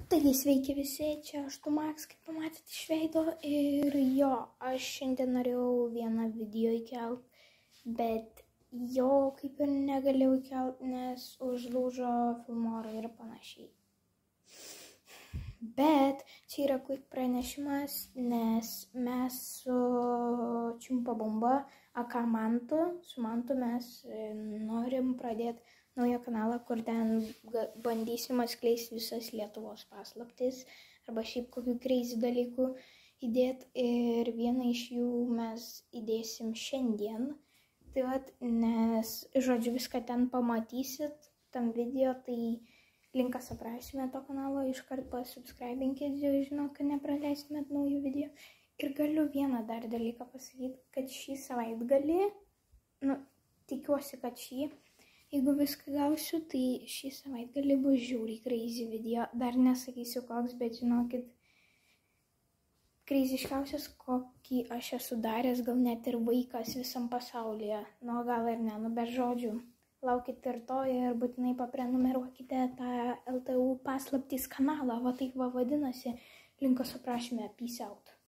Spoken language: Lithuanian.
Taigi sveiki visi, čia aš Max, kaip pamatėte iš veido ir jo, aš šiandien norėjau vieną video įkelt, bet jo kaip ir negalėjau įkelt, nes užlūžo filmora ir panašiai. Bet čia yra quick pranešimas, nes mes su Čiumpa Bomba, aka Mantu, su Mantu mes norim pradėti naują kanalą, kur ten bandysim atskleisti visas Lietuvos paslaptis arba šiaip kokių crazy dalykų įdėti ir vieną iš jų mes įdėsim šiandien. Tai vat, nes, žodžiu, viską ten pamatysit tam video, tai linkas aprašyme to kanalo, iškart pasubscribinkit, žinau, kad nepraleistumėt naujų video. Ir galiu vieną dar dalyką pasakyti, kad šį savaitgalį, tikiuosi, kad jeigu viską gausiu, tai šį savaitgalį bus žiauriai crazy video. Dar nesakysiu koks, bet žinokit, crazyškiausias, kokį aš esu daręs, gal net ir vaikas visam pasaulyje. Gal ir ne, bet žodžiu. Laukite ir to ir būtinai paprenumeruokite tą LTU paslaptys kanalą, va taip va vadinasi, linkas aprašyme, peace out.